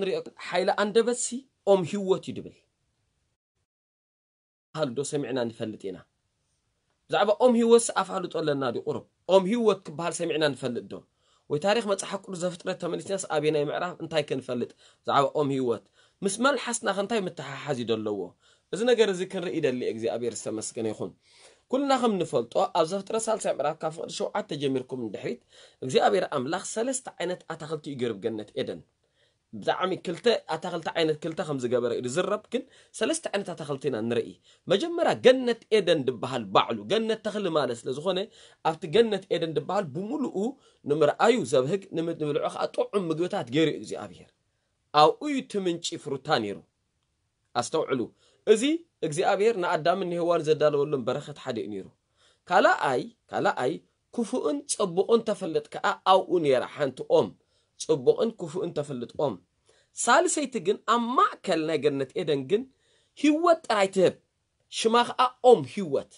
ንሪኦ ሓይሊ ኣንደበትሲ ኦም ህይወት እዩ ድብል። ባህል ዶ ሰሚዕና ንፈልጥ ኢና? ብዛዕባ ኦም ህይወትሲ ኣፋልጦ ኣለና ድዩ? ቁሩብ ኦም ህይወት ክበሃል ሰሚዕና ንፈልጥ ዶ? ወይ ታሪኽ መጽሓፍ ቅዱስ ዘፍጥረት ተመሊስናስ ኣበየናይ ምዕራፍ እንታይ ክንፈልጥ? ብዛዕባ ኦም ህይወት ምስ መልሓስና ከ እንታይ ምትሓሓዝ እዩ ደለዎ? እዚ ነገር እዚ ክንርኢ ደሊ እግዚኣብሔር ዝተመስገነ ይኹን። ኩልና ከም ንፈልጦ ኣብ ዘፍጥረት ሳልሳይ ምዕራፍ ካብ ፍቕዲ ሸውዓተ ጀሚርኩም ንድሕሪት እግዚኣብሔር ኣምላኽ ሰለስተ ዓይነት ኣታኽልቲ እዩ ገይሩ ብገነት ኤደን። ብጣዕሚ ክልተ ኣታኽልቲ ዓይነት ክልተ ከም ዝገበረ እዩ ዝረብ። ግን ሰለስተ ዓይነት ኣታኽልቲ ኢና ንርኢ። መጀመርያ ገነት ኤደን ድበሃል ባዕሉ ገነት ተኽሊ ማለት ስለ ዝኾነ ኣብቲ ገነት ኤደን ድበሃል ብምሉኡ ንምርኣዩ ዘብህግ ንምድ- ንብልዑ ከዓ ጥዑም ምግብታት ገይሩ እዩ እግዚኣብሔር። ኣብኡ እዩ እቲ ምንጪ ፍሩታ ነይሩ። ኣስተውዕሉ፣ እዚ እግዚኣብሔር ንኣዳምን ንሄዋን ዘዳለወሎም በረኸት ሓደ እዩ ነይሩ። ካልኣይ ካልኣይ ክፉእን ጽቡቕን ተፈልጥ ከኣ ኣብኡ ነይራ ሓንቲ ኦም። ጽቡቕን ክፉእን ተፈልጥ ኦም። ሳልሰይቲ ግን ኣብ ማእከል ናይ ገነት ኤደን ግን ህይወት ጥራይ ትህብ። ሽማ ከኣ ኦም ህይወት።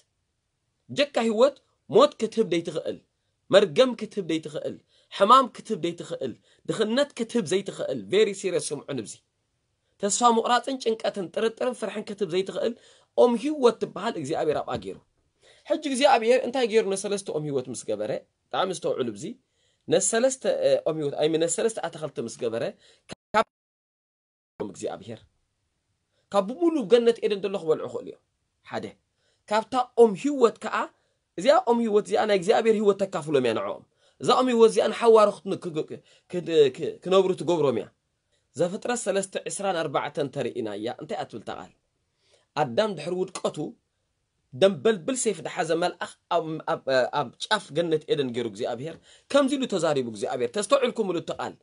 ጀካ ህይወት ሞት ክትህብ ደይትኽእል፣ መርገም ክትህብ ደይትኽእል፣ ሕማም ክትህብ ደይትኽእል፣ ድኽነት ክትህብ ዘይትኽእል። ቬሪ ሲሪየስ ስምዑን። እብዚ ተስፋ ምቑራፅን ጭንቀትን ጥርጥርን ፍርሕን ክትህብ ዘይትኽእል ኦም ህይወት ትበሃል እግዚኣብሔር ኣብኣ ገይሩ። ሕጂ እግዚኣብሔር እንታይ ገይሩ? ነሰለስተ ኦም ህይወት ምስ ገበረ፣ ብጣዕሚ ዝተውዕሉ። ብዚ ነሰለስተ ኦም ህይወት ኣይ ነሰለስተ ኣታኽልቲ ምስ ገበረ ካብ እግዚኣብሔር ካብ ብምሉ ገነት ኤደን ዘሎ ክበልዑ ክእሉ እዮም። ሓደ ካብታ ኦም ህይወት ከዓ እዚኣ ኦም ህይወት እዚኣ ናይ እግዚኣብሔር ህይወት ተካፍሎም እያ ንዕኦም። እዛ ኦም ህይወት እዚኣ ንሓዋሩ ክነብሩ ትገብሮም እያ። ዘፍጥረት ሰለስተ ዕስራን ኣርባዕተን ተርእይና እያ። እንታይ ኣትብል ተቓል ኣዳም ድሕሪ ውድቀቱ ደንበልብል ሴፍ ድሓዘ መልኣኽ ኣብ ጫፍ ገነት ኤደን ገይሩ እግዚኣብሔር ከምዚ ኢሉ ተዛሪቡ እግዚኣብሔር። ተስተውዒልኩምሉ እቲ ቃል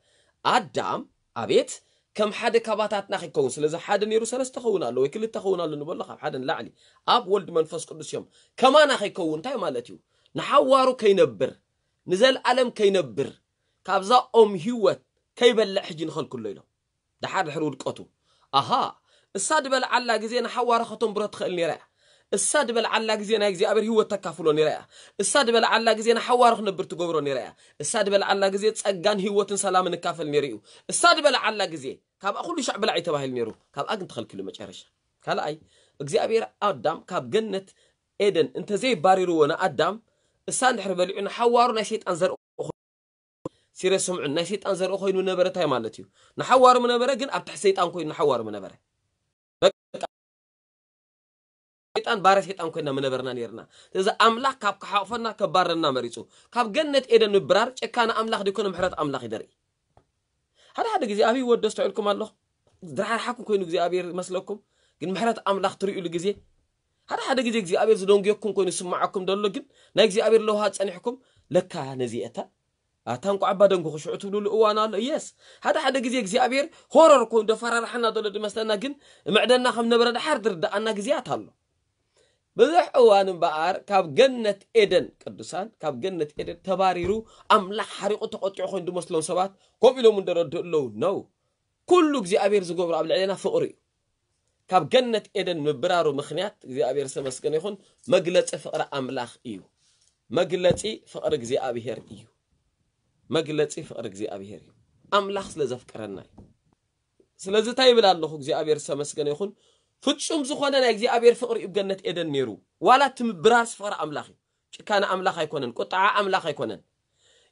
ኣዳም ኣቤት ከም ሓደ ካባታትና ከይከውን። ስለዚ ሓደ ነይሩ ሰለስተ ኸውን ኣሎ ወይ ክልተ ኸውን ኣሎ ንበሎ ካብ ሓደ ንላዕሊ ኣብ ወልድ መንፈስ ቅዱስ እዮም። ከማና ከይከውን እንታይ ማለት እዩ? ንሓዋሩ ከይነብር ንዘለኣለም ከይነብር ካብዛ ኦም ህይወት ከይበልዕ ሕጂ ንኸልክሎ ኢሎም። ደሓር ድሕሪ ውድቀቱ ኣሃ እሳ ዝበልዓላ ግዜ ንሓዋሩ ከተንብሮ ትኽእል ነይራ እያ። እሳ ዝበልዓላ ግዜ ናይ እግዚኣብሔር ህይወት ተካፍሎ ነይራ እያ። እሳ ዝበልዓላ ግዜ ንሓዋሩ ክነብር ትገብሮ ነይራ እያ። እሳ ዝበልዓላ ግዜ ጸጋን ህይወትን ሰላምን እካፈል ነይሩ እዩ። እሳ ዝበልዓላ ግዜ ካብኣ ኩሉ ሻዕ ብላዕ እዩ ተባሂሉ ነይሩ። ካብኣ ግን ተኸልኪሉ መጨረሻ። ካልኣይ እግዚኣብሔር ኣዳም ካብ ገነት ኤደን እንተዘይባሪርዎ ንኣዳም እሳ እንድሕር በሊዑ ንሓዋሩ ናይ ሰይጣን ዘርኢ ሲሪየስ ስምዑን ናይ ሰይጣን ዘርኢ ኮይኑ ነበረ እንታይ ማለት እዩ? ንሓዋሩ ምነበረ ግን ኣብ ትሕቲ ሰይጣን ኮይኑ ንሓዋሩ ምነበረ። ሰይጣን ባረ ሰይጣን ኮይና ምነበርና ነርና። ስለዚ ኣምላኽ ካብ ክሓቕፈና ከባረና መሪፁ። ካብ ገነት ኤደን ምብራር ጭካነ ኣምላኽ ደይኮነ ምሕረት ኣምላኽ ይደርኢ። ሓደ ሓደ ግዜ ኣብ ህይወት ዶ ኣስተውዕልኩም ኣለኹ? ዝረሓርሓኩም ኮይኑ እግዚኣብሔር ይመስለኩም ግን ምሕረት ኣምላኽ ትርእዩሉ ግዜ ሓደ ሓደ ግዜ እግዚኣብሔር ዝደንጉየኩም ኮይኑ ዝስማዓኩም ደሎ ግን ናይ እግዚኣብሔር ለውሃ ጸኒሕኩም ለካ ነዚ እታ ኣታ እንቋዕ እባ ደንጉኹ ሽዑ ትብሉሉ እዋን ኣሎ። የስ ሓደ ሓደ ግዜ እግዚኣብሔር ሆረር ኮይኑ ደፈራርሓና ዘሎ ድመስለና ግን ምዕደና ከም ነበረ ድሓር ድርድኣና ግዜያት ኣሎ። ብዙሕ እዋን እምበኣር ካብ ገነት ኤደን ቅዱሳን ካብ ገነት ኤደን ተባሪሩ ኣምላኽ ሓሪቑ ተቖጢዑ ኮይኑ ድመስሎም ሰባት ከምኡ ኢሎም እንደረድኡ ኣለዉ ነው። ኩሉ እግዚኣብሔር ዝገብሮ ኣብ ልዕሌና ፍቕሪ እዩ። ካብ ገነት ኤደን ምብራሩ ምኽንያት እግዚኣብሔር ዝተመስገነ ይኹን መግለፂ ፍቕሪ ኣምላኽ እዩ። መግለፂ ፍቕሪ እግዚኣብሔር እዩ። መግለፂ ፍቕሪ እግዚኣብሔር እዩ። ኣምላኽ ስለ ዘፍቅረና እዩ። ስለዚ እንታይ ይብል ኣለኹ እግዚኣብሔር ዝተመስገነ ይኹን ፍጹም ዝኾነ ናይ እግዚኣብሔር ፍቕሪ እዩ ገነት ኤደን ነይሩ። ዋላ እቲ ምብራርስ ፍቕሪ ኣምላኽ እዩ። ጭካነ ኣምላኽ ኣይኮነን። ቁጣዓ ኣምላኽ ኣይኮነን።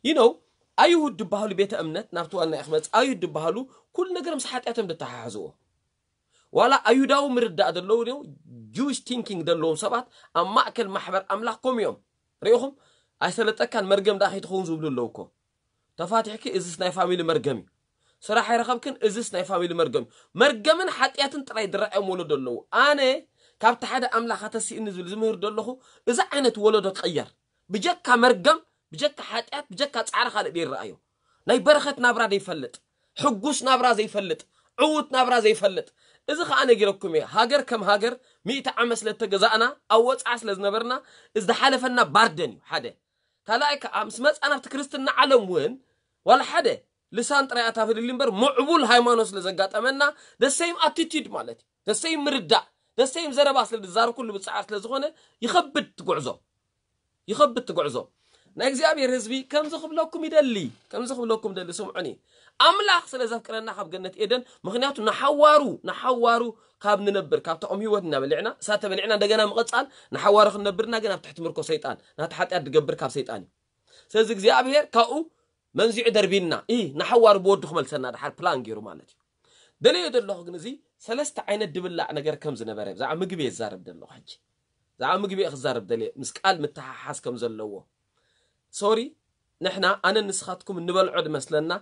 ይነው ኣይሁድ ድበሃሉ ቤተ እምነት ናብቲ ዋና ክመፅ ኣይሁድ ድበሃሉ ኩሉ ነገር ምስ ሓጢኣቶም ድተሓሓዝዎ ዋላ ኣይሁዳዊ ምርዳእ ዘለዉ ጅዊሽ ቲንኪንግ ዘለዎም ሰባት ኣብ ማእከል ማሕበር ኣምላኽ ኮም እዮም። ርኢኹም ኣይሰለጠካን መርገም ዳ ከይትኸውን ዝብሉ ኣለዉ እኮ። ተፋቲሕኪ እዝስ ናይ ፋሚሊ መርገም እዩ። ስራሕ ኣይረኸብክን እዝስ ናይ ፋሚሊ መርገም እዩ። መርገምን ሓጢኣትን ጥራይ ዝረኣዮም ወለዶ ኣለዉ። ኣነ ካብቲ ሓደ ኣምላኽ ኣተሲእኒ ዝብል ዝምህር ዘለኹ እዚ ዓይነት ወለዶ ክቕየር ብጀካ መርገም ብጀካ ሓጢኣት ብጀካ ጻዕሪ ካልእ ደይረኣዮ ናይ በረኸት ናብራ ዘይፈልጥ ሕጉስ ናብራ ዘይፈልጥ ዕዉት ናብራ ዘይፈልጥ እዚ ከዓ ነጊረኩም እየ። ሃገር ከም ሃገር ሚእቲ ዓመት ስለ እተገዛእና ኣብ ወፅዓ ስለ ዝነበርና ዝሓለፈና ባርደን እዩ ሓደ ካልኣይ ከዓ ምስ መፃና ኣብቲ ክርስትና ዓለም እውን ዋላ ሓደ ልሳን ጥራይ ኣታፍልሊ እምበር ምዕቡል ሃይማኖት ስለ ዘጋጠመና ደሰይም ኣቲቲድ ማለት እዩ ደሰይም ምርዳእ ደሰይም ዘረባ ስለ ዝዛረብ ኩሉ ብፅዓር ስለ ዝኾነ ይኸብድ ትጉዕዞ ይኸብድ ትጉዕዞ ናይ እግዚኣብሔር ህዝቢ ከምዚ ክብለኩም ይደሊ፣ ከምዚ ክብለኩም ደሊ፣ ስምዑኒ። ኣምላኽ ስለ ዘፍቅረና ካብ ገነት ኤደን፣ ምኽንያቱ ንሓዋሩ፣ ንሓዋሩ ካብ ንነብር፣ ካብታ ኦም ህይወት እናበሊዕና፣ እሳ ተበሊዕና እንደገና ምቕጻል፣ ንሓዋሩ ክንነብርና ግን ኣብ ትሕቲ ምርኮ ሰይጣን፣ ናቲ ሓጢኣት ድገብር ካብ ሰይጣን እዩ። ስለዚ እግዚኣብሔር ካብኡ መንዚዑ ደርቢና፣ ኢ ንሓዋሩ ብወዱ ክመልሰና ድሓር ፕላን ገይሩ ማለት እዩ። ደለዮ ዘለኹ ግን እዚ ሰለስተ ዓይነት ድብላዕ ነገር ከም ዝነበረ ብዛዕባ ምግቢ እየ ዝዛረብ ዘለኹ። ሕጂ ብዛዕባ ምግቢ እየ ክዛረብ ደልየ፣ ምስ ቃል ምትሓሓዝ ከም ዘለዎ። ሶሪ፣ ንሕና ኣነ ንስኻትኩም እንበልዖ ድመስለና፣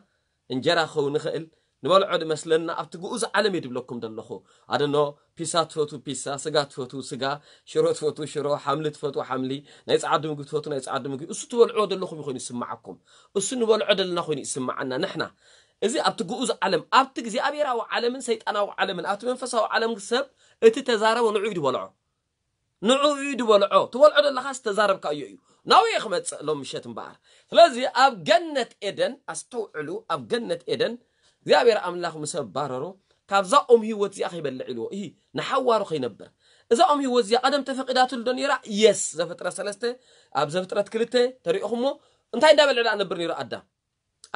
እንጀራ ክኸውን ንኽእል፣ ንበልዖ ድመስለና ኣብቲ ግኡዝ ዓለም እየ ድብለኩም ዘለኹ። ኣደኖ፣ ፒሳ ትፈቱ ፒሳ፣ ስጋ ትፈቱ ስጋ፣ ሽሮ ትፈቱ ሽሮ፣ ሓምሊ ትፈቱ ሓምሊ፣ ናይ ጸዓዱ ምግቢ ትፈቱ ናይ ጸዓዱ ምግቢ። እሱ ትበልዕዎ ዘለኹም ኮይኑ ይስምዓኩም። እሱ ንበልዖ ዘለና ኮይኑ ይስምዓና ንሕና። እዚ ኣብቲ ግኡዝ ዓለም፣ ኣብቲ እግዚኣብሔራዊ ዓለምን ሰይጣናዊ ዓለምን፣ ኣብቲ መንፈሳዊ ዓለም ሰብ እቲ ተዛረቦ ንዑ እዩ ድበልዖ። ንዑ እዩ ድበልዖ። ትበልዖ ዘለኻስ ተዛረብካዮ እዩ። ናብኡ እየ ክመጽእ ሎም ምሸት እምበኣር። ስለዚ ኣብ ገነት ኤደን ኣስተውዕሉ፣ ኣብ ገነት ኤደን እግዚኣብሔር ኣምላኽ ምስ ኣባረሮ፣ ካብዛ ኦም ህይወት እዚኣ ከይበልዕ ኢልዎ። እሂ፣ ንሓዋሩ ከይነብር። እዛ ኦም ህይወት እዚኣ ቀደም ተፈቂዳትሉ ዶ ነይራ? የስ፣ ዘፍጥረት ሰለስተ፣ ኣብ ዘፍጥረት ክልተ ተሪእኹሞ፣ እንታይ እንዳበልዐ ደኣ ነብር ነይሩ ኣዳም?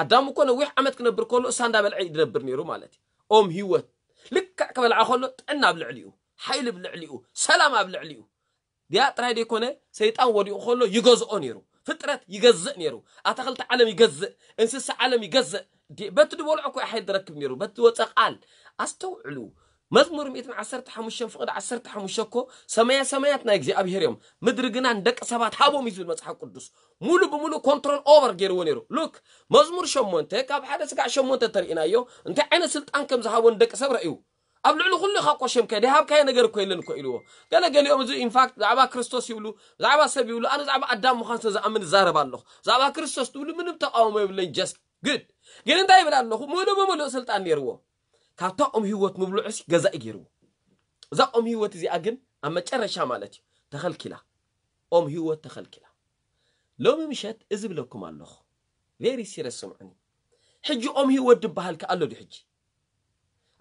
ኣዳም እኮ ነዊሕ ዓመት ክነብር ከሎ እሳ እንዳበልዐ እዩ ዝነብር ነይሩ ማለት እዩ። ኦም ህይወት ልክዕ ክበልዓ ከሎ ጥዕና ኣብ ልዕሊኡ፣ ሓይሊ ኣብ ልዕሊኡ፣ ሰላም ኣብ ልዕሊኡ። ዲኣ ጥራይ ደይኮነ ሰይጣን ወዲቑ ከሎ ይገዝኦ ነይሩ። ፍጥረት ይገዝእ ነይሩ። ኣታኽልቲ ዓለም ይገዝእ፣ እንስሳ ዓለም ይገዝእ። ዲ-፣ በቲ ዝበልዖ እኮ ሓይሊ ዝረክብ ነይሩ። በቲ ዝወፀ ቃል ኣስተውዕሉ። መዝሙር ሚእትን ዓሰርተ ሓሙሽተን ፍቕዲ ዓሰርተ ሓሙሽተ እኮ ሰማያ ሰማያት ናይ እግዚኣብሔር እዮም፣ ምድሪ ግና ንደቂ ሰባት ሃቦም እዩ ዝብል መጽሓፍ ቅዱስ። ሙሉ ብሙሉ ኮንትሮል ኦቨር ገይርዎ ነይሩ። ሉክ፣ መዝሙር ሸሞንተ ካብ ሓደ ስጋዕ ሸሞንተ ተርእናዮ እንታይ ዓይነት ስልጣን ከም ዝሃቦ ንደቂ ሰብ ረእዩ። ኣብ ልዕሊ ኩሉ ኢኻ እኮ ሸምካዮ፣ ደይሃብካዮ ነገር እኮ የለን እኮ ኢልዎ። ገለ ገሊኦም እዚ ኢንፋክት ብዛዕባ ክርስቶስ ይብሉ፣ ብዛዕባ ሰብ ይብሉ፣ ኣነ ብዛዕባ ኣዳም ምዃን ስለ ዝኣምን እዛረብ ኣለኹ። ብዛዕባ ክርስቶስ ትብሉ ምንም ተቃውሞ የብለኝ፣ ጀስት ግድ። ግን እንታይ ይብል ኣለኹ? ሙሉ ብሙሉእ ስልጣን ነይርዎ። ካብታ ኦም ህይወት ምብልዑሲ ገዛኢ ገይርዎ። እዛ ኦም ህይወት እዚኣ ግን ኣብ መጨረሻ ማለት እዩ ተኸልኪላ። ኦም ህይወት ተኸልኪላ። ሎሚ ምሸት እዚ ብለኩም ኣለኹ። ቬሪ ሲሪየስ ስምዑኒ። ሕጂ ኦም ህይወት ድበሃል ከ ኣሎ ድዩ ሕጂ?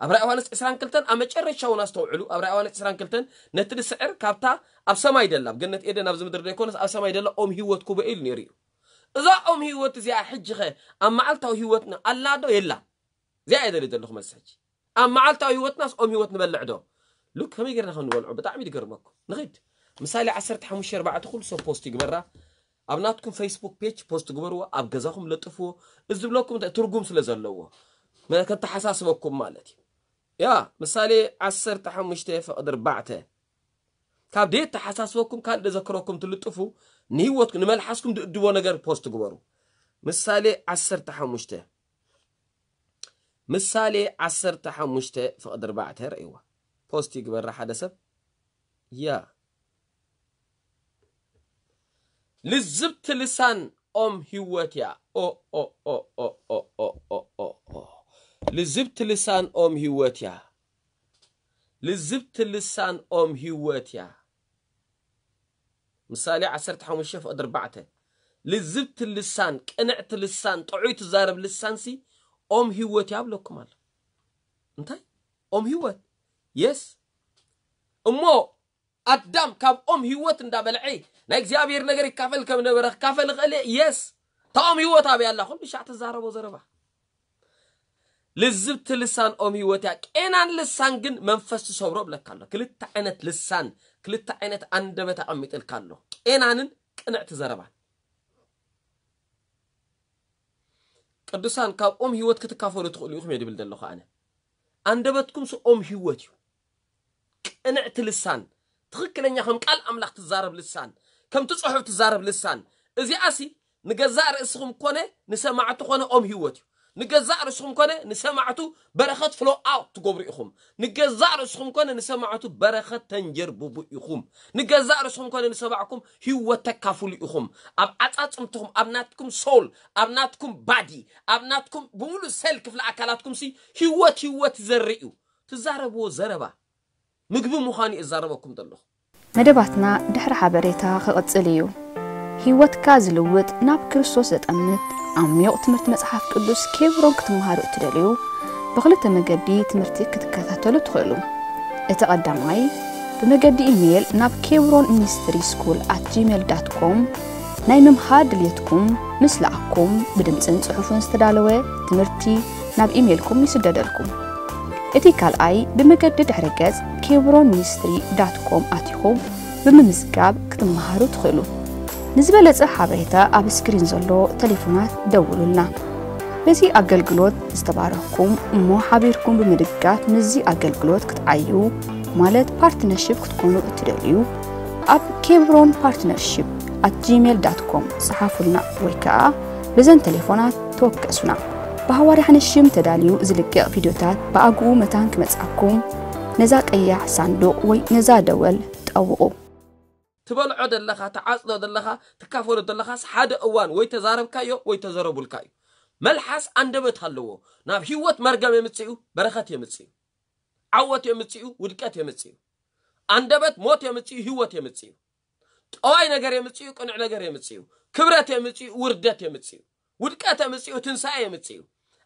ኣብ ራእይ ዮሃንስ ዕስራን ክልተን ኣብ መጨረሻ እውን ኣስተውዕሉ። ኣብ ራእይ ዮሃንስ ዕስራን ክልተን ነቲ ድስዕር ካብታ ኣብ ሰማይ ደላ፣ ኣብ ገነት ኤደን ኣብዚ ምድሪ ዘይኮነስ ኣብ ሰማይ ደላ ኦም ህይወት ክቦ ኢሉ ነይሩ እዩ። እዛ ኦም ህይወት እዚኣ ሕጂ ኸ ኣብ መዓልታዊ ህይወትና ኣላ ዶ የላ? እዚኣ እየ ደልየ ዘለኹ መልሲ ሕጂ። ኣብ መዓልታዊ ህይወትናስ ኦም ህይወት ንበልዕ ዶ? ሉክ፣ ከመይ ጌርና ከም ንበልዖ ብጣዕሚ ድገርመኩም። ንኺድ። ምሳሌ ዓሰርተ ሓሙሽተ ኣርባዕተ ኩሉ ሰብ ፖስት ይግበራ። ኣብ ናትኩም ፌስቡክ ፔጅ ፖስት ግበርዎ፣ ኣብ ገዛኹም ለጥፍዎ። እዚ ዝብለኩም እንታይ ትርጉም ስለ ዘለዎ። መ-፣ ከተሓሳስበኩም ማለት እዩ። ያ፣ ምሳሌ ዓሰርተ ሓሙሽተ ፍቕዲ ኣርባዕተ። ካብ ደየተሓሳስበኩም ካልእ ደዘክረኩም ትልጥፉ፣ ንህይወትኩም፣ ንመልሓስኩም ድእድቦ ነገር ፖስት ግበሩ። ምሳሌ ዓሰርተ ሓሙሽተ። ምሳሌ ዓሰርተ ሓሙሽተ ፍቕዲ ኣርባዕተ ርእይዋ። ፖስት ይግበራ ሓደ ሰብ። ያ። ልዝብቲ ልሳን ኦም ህይወት እያ። ኦ፣ ኦ፣ ኦ፣ ኦ። ልዝብቲ ልሳን ኦም ህይወት እያ። ልዝብቲ ልሳን ኦም ህይወት እያ። ምሳሌ ዓሰርተ ሓሙሽተ ፍቕዲ ኣርባዕተ። ልዝብቲ ልሳን፣ ቅንዕቲ ልሳን፣ ጥዑይ ትዛረብ ልሳንሲ ኦም ህይወት እያ ብለኩም ኣሎ። እንታይ? ኦም ህይወት። የስ። እሞ ኣዳም ካብ ኦም ህይወት እንዳበልዐ ናይ እግዚኣብሔር ነገር ይካፈል ከም ነበረ ክካፈል ይኽእል እየ። የስ። እታ ኦም ህይወት ኣበይ ኣላ? ኩሉ ሻዕ ትዛረቦ ዘረባ። ልዝብቲ ልሳን ኦም ህይወት እያ። ቄናን ልሳን ግን መንፈስ ትሰብሮ ብለካ ኣሎ። ክልተ ዓይነት ልሳን፣ ክልተ ዓይነት ኣንደበት ኣቐሚጥልካ ኣሎ። ቄናንን ቅንዕቲ ዘረባን። ቅዱሳን ካብ ኦም ህይወት ክትካፈሉ ትኽእሉ ኢኹም እየ ድብል ዘለኹ ኣነ። ኣንደበትኩም ስ ኦም ህይወት እዩ። ቅንዕቲ ልሳን፣ ትኽክለኛ ከም ቃል ኣምላኽ ትዛረብ ልሳን፣ ከምቲ ጽሑፍ ትዛረብ ልሳን። እዚኣሲ ንገዛእ ርእስኹም ኮነ ንሰማዕቱ ኮነ ኦም ህይወት እዩ። ንገዛእ ርእስኹም ኮነ ንሰማዕቱ በረኸት ፍሎ ኣውት ትገብሩ ኢኹም። ንገዛእ ርእስኹም ኮነ ንሰማዕቱ በረኸት ተንጀርብቡ ኢኹም። ንገዛእ ርእስኹም ኮነ ንሰማዕኩም ህይወት ተካፍሉ ኢኹም። ኣብ ዓጻጽምትኹም፣ ኣብ ናትኩም ሶል፣ ኣብ ናትኩም ባዲ፣ ኣብ ናትኩም ብምሉእ ሴል ክፍሊ ኣካላትኩም ሲ ህይወት፣ ህይወት ይዘርእ እዩ። ትዛረብዎ ዘረባ ምግቢ ምዃኑ እዩ እዛረበኩም ዘለኹ። መደባትና ድሕሪ ሓበሬታ ክቕጽል እዩ። ህይወትካ ዝልውጥ፣ ናብ ክርስቶስ ዘጠምት ዓሚቕ ትምህርቲ መጽሓፍ ቅዱስ ኬብሮን ክትመሃሩ እትደልዩ፣ ብኽልተ መገዲ ትምህርቲ ክትከታተሉ ትኽእሉ። እቲ ቀዳማይ፣ ብመገዲ ኢሜይል ናብ ኬብሮን ሚኒስትሪ ስኩል ኣት ጂሜል ዳት ኮም፣ ናይ ምምሃር ድልየትኩም ምስ ለኣኩም ብድምፅን ፅሑፍን ዝተዳለወ ትምህርቲ ናብ ኢሜይልኩም ይስደደልኩም። እቲ ካልኣይ ብመገዲ ድሕረ ገፅ ኬብሮን ሚኒስትሪ ዳት ኮም ኣቲኹም ብምምዝጋብ ክትመሃሩ ትኽእሉ። ንዝበለፀ ሓበሬታ ኣብ ስክሪን ዘሎ ቴሌፎናት ደውሉልና። በዚ ኣገልግሎት ዝተባረኽኩም እሞ ሓቢርኩም ብምድጋፍ ምስዚ ኣገልግሎት ክትዓዩ ማለት ፓርትነርሽፕ ክትኮኑ እትደልዩ ኣብ ኬብሮን ፓርትነርሽፕ ኣት ጂሜል ዳት ኮም ጸሓፉልና ወይ ከኣ በዘን ቴሌፎናት ተወከሱና። ብሃዋርያ ሓንሽም ተዳልዩ ዝልቀቕ ቪድዮታት ብኣግኡ መታን ክመጻኩም ነዛ ቀያሕ ሳንዱቕ ወይ ነዛ ደወል ጠውቑ። ትበልዖ ዘለኻ ትዓፅዶ ዘለኻ ትካፈሎ ዘለኻስ ሓደ እዋን ወይ ተዛረብካዮ ወይ ተዘረቡልካ እዩ። መልሓስ ኣንደበት ኣለዎ። ናብ ህይወት መርገም የምፅኡ፣ በረኸት የምፅኡ፣ ዓወት የምፅኡ፣ ውድቀት የምፅኡ። ኣንደበት ሞት የምፅኡ፣ ህይወት የምፅኡ። ጠዋይ ነገር የምፅኡ፣ ቅኑዕ ነገር የምፅኡ፣ ክብረት የምፅኡ፣ ውርደት የምፅኡ፣ ውድቀት የምፅኡ፣ ትንሳኤ የምፅኡ።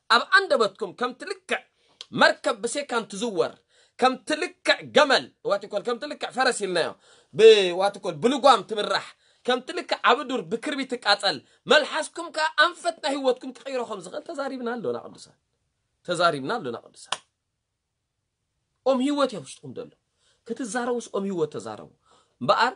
ኣብ ኣንደበትኩም ከምቲ ልክዕ መርከብ ብሴካን ትዝወር፣ ከምቲ ልክዕ ገመል ዋትኮል ከምቲ ልክዕ ፈረስ ኢልናዮ ብዋትኮል ብልጓም ትምራሕ፣ ከምቲ ልክዕ ኣብ ዱር ብክርቢ ትቃፀል፣ መልሓስኩም ከዓ ኣንፈት ናይ ህይወትኩም ክቕይሮ ከም ዝኽእል ተዛሪብና ኣሎና ቅዱሳን። ተዛሪብና ኣሎና ቅዱሳን። ኦም ህይወት እያ ውሽጥኩም ዘሎ። ክትዛረቡስ ኦም ህይወት ተዛረቡ እምበኣር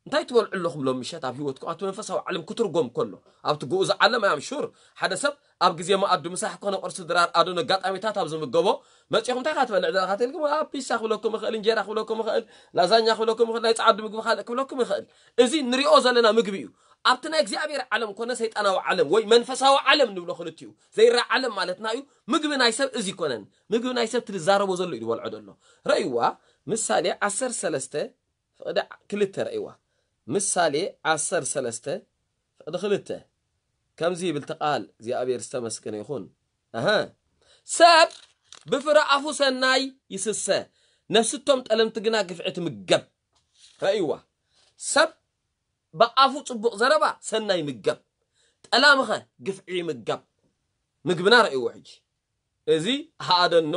እንታይ ትበልዑ ኣለኹም ሎም ምሸት ኣብ ህይወትኩም ኣብቲ መንፈሳዊ ዓለም ክትርጎም ከሎ ኣብቲ ግኡዝ ዓለም ኣያም ሹር ሓደ ሰብ ኣብ ግዜ መኣዱ ምሳሕ ኮነ ቁርሲ ድራር ኣዶን ኣጋጣሚታት ኣብ ዝምገቦ መፂኹም እንታይ ካ ትበልዕ ዘለካ ተልኩም ኣብ ፒሳ ክብለኩም ይኽእል እንጀራ ክብለኩም ይኽእል ላዛኛ ክብለኩም ይኽእል ናይ ፃዓዱ ምግቢ ካልእ ክብለኩም ይኽእል። እዚ ንሪኦ ዘለና ምግቢ እዩ። ኣብቲ ናይ እግዚኣብሔር ዓለም ኮነ ሰይጣናዊ ዓለም ወይ መንፈሳዊ ዓለም ንብሎ ክልቲኡ ዘይራ ዓለም ማለትና እዩ። ምግቢ ናይ ሰብ እዚ ይኮነን። ምግቢ ናይ ሰብ ትዛረቦ ዘሎ እዩ ዝበልዖ ዘሎ። ረእይዋ ምሳሌ ዓሰርተ ሰለስተ ፍቕዲ ክልተ ረእይዋ ምሳሌ ዓሰርተ ሰለስተ ፍቕዲ ክልተ ከምዚ ይብል እቲ ቃል እግዚኣብሔር ዝተመስገነ ይኹን። ኣሀ ሰብ ብፍረ ኣፉ ሰናይ ይስሰ ነፍስቶም ጠለምቲ ግና ግፍዒ ትምገብ። ረእይዋ ሰብ ብኣፉ ጽቡቕ ዘረባ ሰናይ ይምገብ፣ ጠላምኸ ግፍዒ ይምገብ። ምግብና ረእይዎ ሕጂ። እዚ ሃኣደኖ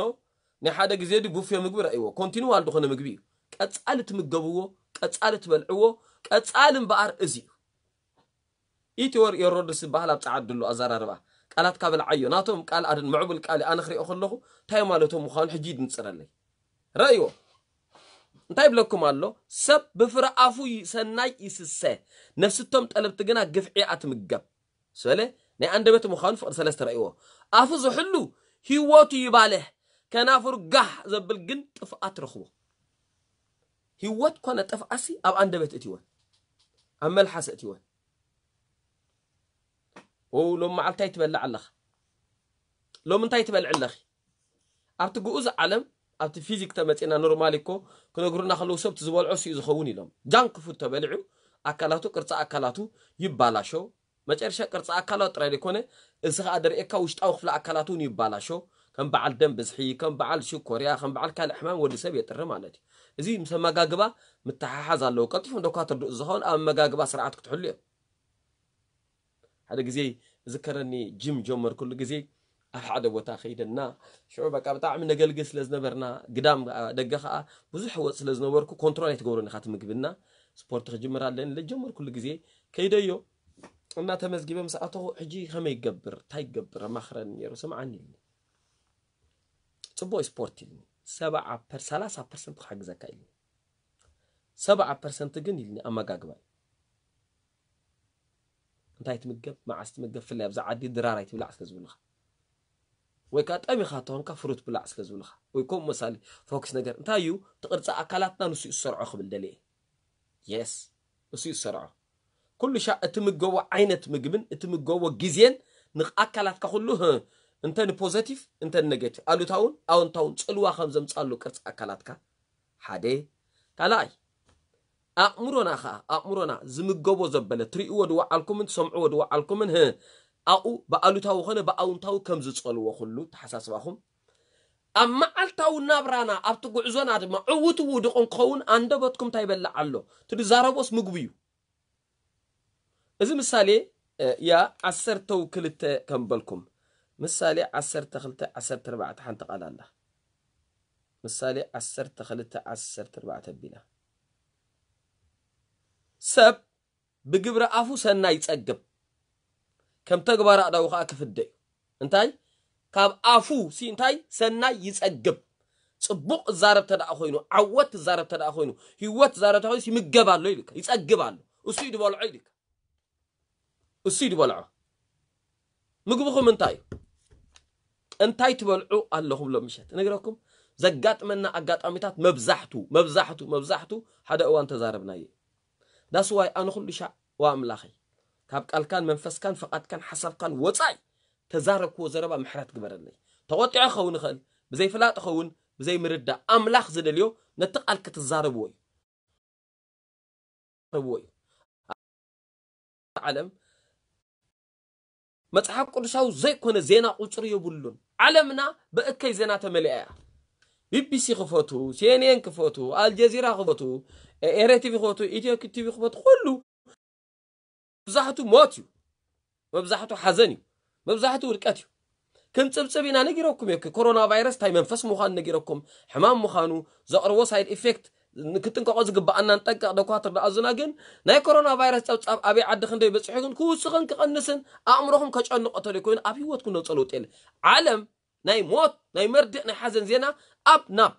ናይ ሓደ ግዜ ዲ ቡፌ ምግቢ ረእይዎ። ኮንቲኒዋል ዝኾነ ምግቢ እዩ። ቀጻሊ ትምገብዎ፣ ቀጻሊ ትበልዕዎ፣ ቀጻሊ እምበኣር እዚ እዩ። ኢትወር የሮድስ ዝበሃል ኣብ ጸዓድ ድሎ ኣዘራርባ ቃላት ካበልዓዮ ናቶም ቃል ኣደን ምዕቡል ቃል ኣነ ክሪኦ ከለኹ እንታይ ማለቶም ምዃኑ ሕጂ ይድንጽረለይ። ረእይዎ እንታይ ብለኩም ኣሎ ሰብ ብፍረ ኣፉ ሰናይ ይስሰ ነፍስቶም ጠለብቲ ግና ግፍዒ ኣትምገብ ስበለ ናይ ኣንደበት ምዃኑ ፍቕዲ ሰለስተ ረእይዎ ኣፉ ዝሕሉ ህይወቱ ይባልሕ ከናፍሩ ጋህ ዘብል ግን ጥፍኣት ረኽቦ። ህይወት ኮነ ጥፍኣሲ ኣብ ኣንደበት እትወን ኣብ መልሓስ እትወን ው ሎም መዓልታይ ትበልዕ ኣለኻ ሎም እንታይ ትበልዕ ኣለኺ ኣብቲ ግኡዝ ዓለም ኣብቲ ፊዚክ ተመፂና ኖርማሊ እኮ ክነግሩና ከለዉ ሰብቲ ዝበልዖ ስኡ ዝኸውን ኢሎም ጃንክ ፉድ ተበሊዑ ኣካላቱ ቅርፂ ኣካላቱ ይባላሾ መጨረሻ ቅርፂ ኣካላት ጥራይ ዘይኮነ እዚ ከዓ ደርእየካ ውሽጣዊ ክፍሊ ኣካላት እውን ይባላሾ ከም በዓል ደም ብዝሒ ከም በዓል ሽኮርያ ከም በዓል ካልእ ሕማም ወዲ ሰብ የጥሪ ማለት እዩ እዚ ምስ ኣመጋግባ ምተሓሓዝ ኣለዎ ቀልጢፎም ዶካ ትርድኡ ዝኸውን ኣብ ኣመጋግባ ስርዓት ክትሕሉ እዮም ሓደ ግዜ ዝከረኒ ጅም ጀመርኩሉ ግዜ ኣብ ሓደ ቦታ ከይደና ሽዑ በቃ ብጣዕሚ ነገልግል ስለ ዝነበርና ግዳም ደገ ከዓ ብዙሕ ወፅ ስለ ዝነበርኩ ኮንትሮል ኣይትገብሮን ኢካ ትምግብና ስፖርት ክጅምር ኣለኒ ለጀመርኩሉ ግዜ ከይደዮ እና ተመዝጊበ ምስ ኣተኹ ሕጂ ከመይ ይገብር እንታይ ይገብር ኣማኽረኒ ነይሩ ስምዓኒ ኢልኒ ፅቡቅ ስፖርት ኢልኒ ሰብዓ ፐር ሰላሳ ፐርሰንት ክሓግዘካ ኢልኒ ሰብዓ ፐርሰንት ግን ኢልኒ ኣመጋግባ እዩ እንታይ ትምገብ መዓስ ትምገብ ፍላይ ኣብዛ ዓዲ ድራር ኣይትብላዕ ስለ ዝብሉኻ ወይ ከዓ ጠሚኻ ተኾንካ ፍሩት ብላዕ ስለ ዝብሉኻ ወይ ከምኡ መሳሊ ፎክስ ነገር እንታይ እዩ ትቅርፂ ኣካላትና ንሱ እዩ ዝሰርዖ ክብል ደልየ የስ ንሱ እዩ ዝሰርዖ ኩሉ ሻ እትምገቦ ዓይነት ምግብን እትምገቦ ግዜን ንኣካላትካ ኩሉ እንተ ንፖዘቲቭ እንተ ንኔጌቲቭ ኣሉታውን ኣወንታውን ፅልዋ ከም ዘምፃሉ ቅርፂ ኣካላትካ ሓደ ካልኣይ ኣእምሮና ከዓ ኣእምሮና ዝምገቦ ዘበለ ትርእይዎ ድወዓልኩምን ትሰምዕዎ ድወዓልኩምን ህ ኣብኡ ብኣሉታዊ ኮነ ብኣውንታዊ ከም ዝፀልዎ ኩሉ ተሓሳስባኹም ኣብ መዓልታዊ ናብራና ኣብቲ ጉዕዞና ድማ ዕዉት ውዱቕ እንክኸውን ኣንደበትኩም እንታይ ይበልዕ ኣሎ ትድዛረቦስ ምግቡ እዩ እዚ ምሳሌ ያ ዓሰርተው ክልተ ከም በልኩም ምሳሌ ዓሰርተ ክልተ ዓሰርተ ኣርባዕተ ሓንቲ ቃል ኣላ ምሳሌ ዓሰርተ ክልተ ዓሰርተ ኣርባዕተ ኣቢላ ሰብ ብግብሪ ኣፉ ሰናይ ይጸግብ፣ ከም ተግባር ኣእዳዉ ከኣ ክፍደ እዩ። እንታይ? ካብ ኣፉ ሲ እንታይ? ሰናይ ይጸግብ። ጽቡቕ እዛረብ ተደኣ ኮይኑ፣ ዓወት ትዛረብ ተደኣ ኮይኑ፣ ህይወት ትዛረብ ተደኣ ኮይኑስ ይምገብ ኣሎ ኢልካ፣ ይጸግብ ኣሎ። እሱ እዩ ዝበልዖ ኢልካ። እሱ እዩ ዝበልዖ። ምግብኹም እንታይ እዩ? እንታይ ትበልዑ ኣለኹም ሎም ምሸት? እነግረኩም፣ ዘጋጥመና ኣጋጣሚታት መብዛሕቱ፣ መብዛሕቱ፣ መብዛሕቱ ሓደ እዋን ተዛረብናዮ። ዳስዋይ ኣነ ኩሉ ሻዕ፣ ዋ ኣምላኸይ፣ ካብ ቃልካን መንፈስካን ፍቓድካን ሓሳብካን ወጻኢ ተዛረብክዎ ዘረባ ምሕረት ግበረለይ። ተቖጢዐ ክኸውን ይኽእል፣ ብዘይፍላጥ ይኸውን፣ ብዘይምርዳእ። ኣምላኽ ዝደልዮ ነቲ ቃል ክትዛረብዎ እዩ። ረብዎ እዩ። ዓለም መጽሓፍ ቅዱሳዊ ዘይኮነ ዜና ቁጽሪ የብሉን። ዓለምና ብእከይ ዜና ተመሊኣ እያ። ቢቢሲ ክፈቱ፣ ሲኤንኤን ክፈቱ፣ ኣልጀዚራ ክፈቱ፣ ኤረ ቲቪ ክፈቱ፣ ኢትዮ ቲቪ ክፈቱ፣ ኩሉ መብዛሕቱ ሞት እዩ። መብዛሕቱ ሓዘን እዩ። መብዛሕቱ ውድቀት እዩ። ክንጽብጽብ ኢና ነጊረኩም እየ። ኮሮና ቫይረስ እንታይ መንፈስ ምዃኑ ነጊረኩም፣ ሕማም ምዃኑ፣ ዘቕርቦ ሳይድ ኢፌክት፣ ንክጥንቀቆ ዝግብኣና ንጠንቀቕ። ደኳትር ደኣዙና ግን ናይ ኮሮና ቫይረስ ጸብጻብ ኣበይ ዓዲ ክንደይ በጺሑ ግን ክውስኽን ክቐንስን ኣእምሮኹም ከጨንቆ ተደይ ኮይኑ ኣብ ህይወትኩም ነውጸ ለውጥ የለ። ዓለም ናይ ሞት፣ ናይ መርድእ፣ ናይ ሓዘን ዜና ኣብ ናብ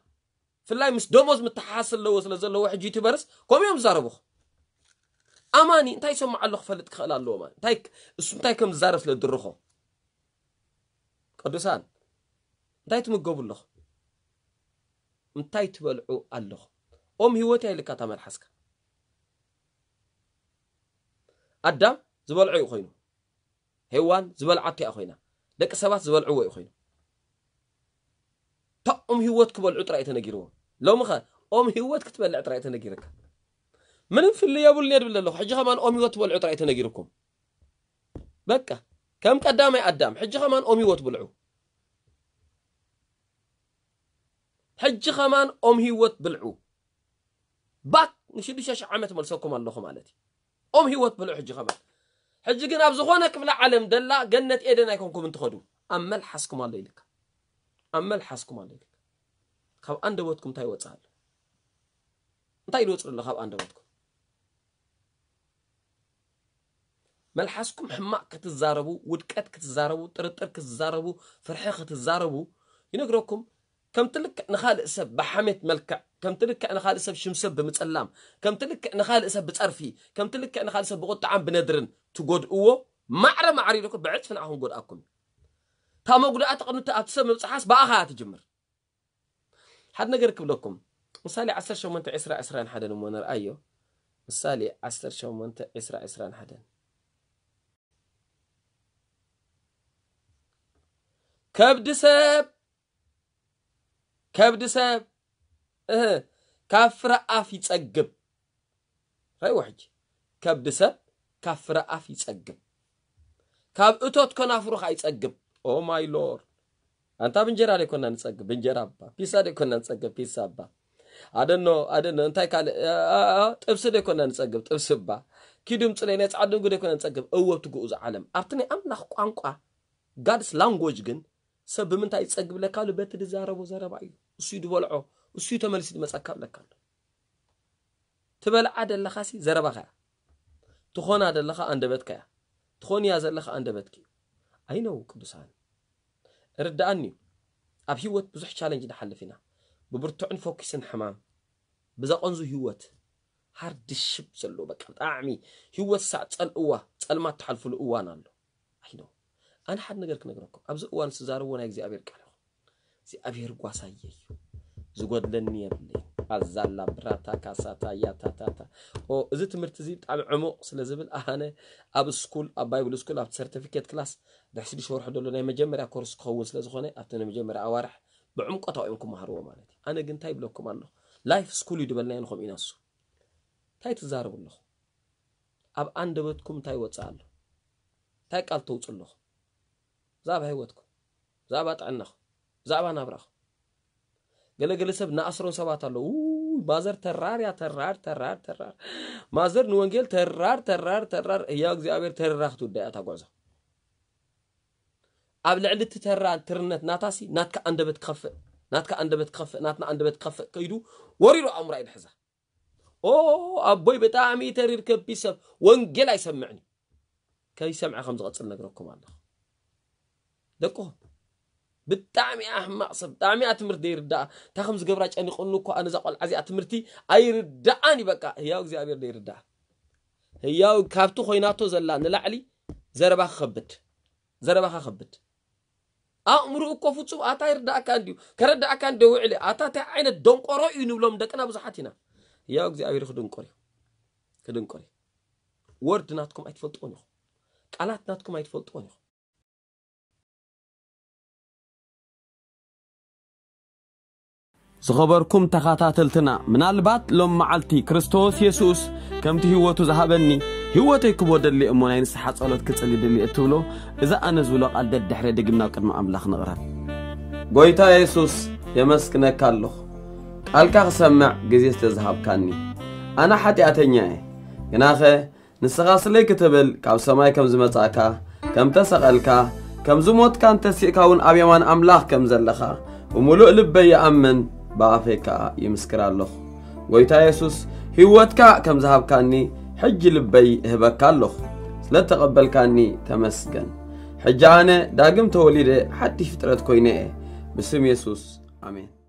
ፍላይ ምስ ደሞዝ ምተሓሓስ ኣለዎ ስለ ዘለዎ ሕጂ ዩቲዩበርስ ከምኡ እዮም ዝዛረቡኹ። ኣማኒ እንታይ ይሰምዖ ኣሎ ክፈልጥ ክኽእል ኣለዎ ማለት እንታይ እሱ እንታይ ከም ዝዛረብ ስለ ድርኾ። ቅዱሳን እንታይ ትምገቡ ኣለኹ? እንታይ ትበልዑ ኣለኹ? ኦም ህይወት እያ ኢልካ እታ መልሓስካ። ኣዳም ዝበልዖ እዩ ኮይኑ፣ ሄዋን ዝበልዓቶ እያ ኮይና፣ ደቂ ሰባት ዝበልዕዎ እዩ ኮይኑ። እታ ኦም ህይወት ክበልዑ ጥራይ ተነጊርዎም። ሎሚ ኸ ኦም ህይወት ክትበልዕ ጥራይ ተነጊርካ። ምንም ፍልይ የብሉን እየ ድብል ኣለኹ። ሕጂ ኸማን ኦም ህይወት ትበልዑ ጥራይ ተነጊርኩም። በቃ ከም ቀዳማይ ኣዳም ሕጂ ኸማን ኦም ህይወት ብልዑ። ሕጂ ኸማን ኦም ህይወት ብልዑ። ባክ ንሽዱሽተ ሽሕ ዓመት መልሰኩም ኣለኹ ማለት እዩ። ኦም ህይወት ብልዑ ሕጂ ኸማን። ሕጂ ግን ኣብ ዝኾነ ክፍለ ዓለም ደላ ገነት ኤደን ኣይኮንኩም እንትኸዱ ኣብ መልሓስኩም ኣሎ ኢልካ። ኣብ መልሓስኩም ኣሎ ኢልካ። ካብ ኣንደበትኩም እንታይ ይወጽእ ኣሎ? እንታይ ይወጽእ ኣሎ ካብ ኣንደበትኩም? መልሓስኩም ሕማቕ ክትዛረቡ፣ ውድቀት ክትዛረቡ፣ ጥርጥር ክትዛረቡ፣ ፍርሒ ክትዛረቡ ይነግረኩም። ከምቲ ልክዕ ንኻልእ ሰብ ብሓሜት መልክዕ፣ ከምቲ ልክዕ ንኻልእ ሰብ ሽም ሰብ ብምጽላም፣ ከምቲ ልክዕ ንኻልእ ሰብ ብጸርፊ፣ ከምቲ ልክዕ ንኻልእ ሰብ ብቁጥዓን ብነድርን ትጎድእዎ፣ ማዕረ ማዕረ ኢልኩም ብዕጽፊ ንዓኹም ጎድኣኩም እዩ። እታ መጉዳእቲ ቅድሚ ኣብቲ ሰብ ምብጽሓስ ብኣኻ እያ ትጅምር። ሓደ ነገር ክብለኩም። ምሳሌ ዓሰርተ ሸሞንተ ዕስራ ዕስራን ሓደን እሞ ንርኣዮ። ምሳሌ ዓሰርተ ሸሞንተ ዕስራ ዕስራን ሓደን። ከብዲ ሰብ፣ ከብዲ ሰብ፣ እህ፣ ካብ ፍረ ኣፍ ይጸግብ። ራይዎ ሕጂ። ከብዲ ሰብ ካብ ፍረ ኣፍ ይጸግብ። ካብ እቶት ከናፍሩ ኸኣ ይጸግብ። ኦ ማይ ሎርድ። ኣንታ ብእንጀራ ደይኮና ንጸግብ፣ ብእንጀራ እባ። ፒሳ ደይኮና ንጸግብ፣ ፒሳ እባ። ኣደኖ፣ ኣደኖ፣ እንታይ ካልእ፣ አ፣ አ፣ አ፣ ጥብሲ ደይኮና ንጸግብ፣ ጥብሲ እባ። ኪዱ ምጽለይ ናይ ጻዕድንጉ ደይኮና ንጸግብ፣ እወ ኣብቲ ግኡዝ ዓለም። ኣብቲ ናይ ኣምላኽ ቋንቋ፣ ጋድስ ላንጎጅ ግን፣ ሰብ ብምንታይ ይጸግብ ለካሉ? በቲ ዝዛረቦ ዘረባ እዩ። እሱ እዩ ዝበልዖ፣ እሱ እዩ ተመሊሱ ዝመጸካ ለካሉ። ትበልዓ ደለኻሲ ዘረባኻ እያ። ትኾና ደለኻ ኣንደበትካ እያ። ትኾንያ ዘለኻ ኣንደበትኪ እዩ። ኣይነው ቅዱሳን። ርድኣኒ እዩ። ኣብ ህይወት ብዙሕ ቻለንጅ ንሓልፍ ኢና። ብብርቱዕን ፎኪስን ሕማም። ብዘቐንዙ ህይወት። ሃርድሽፕ ዘለዎ በቃ ብጣዕሚ ህይወት ሳዕ ጸልእዋ፣ ጸልማት ትሓልፍሉ እዋን ኣሎ። ኣይነው። ኣነ ሓደ ነገር ክነግረኩም። ኣብዚ እዋን ዝዛረብዎ ናይ እግዚኣብሔር ቃል ይኹን። እግዚኣብሔር ጓሳየ እዩ። ዝጎድለኒ የብለይ። ኣዛላ ብራታ ካሳታ ያታታታ። ኦ፣ እዚ ትምህርቲ እዚ ብጣዕሚ ዕሙቕ ስለ ዝብል ኣነ ኣብ ስኩል፣ ኣብ ባይብል ስኩል፣ ኣብ ሰርቲፊኬት ክላስ ድሕሪ ሽዱሽተ ወርሒ ዘሎ ናይ መጀመርያ ኮርስ ክኸውን ስለ ዝኾነ ኣብቲ ናይ መጀመርያ ኣዋርሕ ብዕምቆት እዮም ክመሃርዎ ማለት እዩ። ኣነ ግን እንታይ ይብለኩም ኣለኹ? ላይፍ ስኩል እዩ ዝበልናዮ ንኸምኡ ኢና እሱ። እንታይ ትዛረቡ ኣለኹ? ኣብ ኣንደበትኩም እንታይ ይወጽእ ኣሎ? እንታይ ቃል ተውጽእ ኣለኹ? ብዛዕባ ህይወትኩም፣ ብዛዕባ ጥዕናኹም፣ ብዛዕባ ናብራኹም። ገለገለ ሰብ ንኣስሮን ሰባት ኣለዉ። ውይ፣ ማዘር ተራር እያ፣ ተራር፣ ተራር፣ ተራር። ማዘር ንወንጌል ተራር፣ ተራር፣ ተራር። ህያው እግዚኣብሔር ተሪራ ክትውዳእ እያ እታ ጉዕዞ። ኣብ ልዕሊ እቲ ተራ ትርነት ናታሲ ናትካ ኣንደበት ክኸፍእ፣ ናትካ ኣንደበት ክኸፍእ፣ ናትና ኣንደበት ክኸፍእ ከይዱ ወሪሩ ኣእምራ እዩ ድሕዛ። ኦ ኣቦይ ብጣዕሚ ተሪር ከቢድ ሰብ ወንጌል ኣይሰምዕን እዩ። ከይሰምዐ ከም ዝቐጽል ነግረኩም ኣለኹ። ደቅኹም ብጣዕሚ ኣሕማቕ ሰብ፣ ብጣዕሚ እያ ትምህርቲ ዘይርዳኣ። እንታይ ከም ዝገብራ ጨኒቑኒ እኮ ኣነ እዛ ቆልዓ እዚኣ ትምህርቲ ኣይርዳኣን እዩ በቃ። ህያው እግዚኣብሔር ዘይርዳኣ። ህያው ካብቲ ኮይናቶ ዘላ ንላዕሊ ዘረባ ክኸብድ። ዘረባኻ ከብድ። ኣእምሩ እኮ ፍጹም ኣታ ይርዳእካ እንዲዩ። ከረዳእካ እንደ ውዕሊ ኣታ እንታይ ዓይነት ደንቆሮ እዩ ንብሎም ደቅና ብዙሓት ኢና። ህያው እግዚኣብሔር ክድንቆር እዩ። ክድንቆር እዩ። ወርድ ናትኩም ኣይትፈልጥዎን ኢኹም። ቃላት ናትኩም ኣይትፈልጥዎን ኢኹም። ዝኸበርኩም ተኸታተልትና፣ ምናልባት ሎም መዓልቲ ክርስቶስ የሱስ ከምቲ ህይወቱ ዝሃበኒ ህይወተይ ክቦ ደሊ እሞ ናይ ንስሓ ጸሎት ክጽሊ ደሊ እትብሎ፣ እዚ ኣነ ዝብሎ ቃል ደድሕረ ደጊምና ኣብ ቅድሚ ኣምላኽ ንቕረብ። ጎይታ የሱስ፣ የመስግነካ ኣለኹ፣ ቃልካ ክሰምዕ ግዜ ስለ ዝሃብካኒ። ኣነ ሓጢኣተኛ እየ፣ ግናኸ ንስኻ ስለይ ክትብል ካብ ሰማይ ከም ዝመጻእካ፣ ከም ተሰቐልካ፣ ከም ዝሞትካን ተሲእካ እውን ኣብ የማን ኣምላኽ ከም ዘለኻ ብምሉእ ልበይ ይኣምን፣ ብኣፈይ ከኣ ይምስክር ኣለኹ። ጎይታ የሱስ፣ ህይወትካ ከም ዝሃብካኒ ሕጂ ልበይ እህበካ ኣለኹ። ስለ እተቐበልካኒ ተመስገን። ሕጂ ኣነ ዳግም ተወሊደ ሓድሽ ፍጥረት ኮይነ እየ። ብስም የሱስ፣ ኣሜን።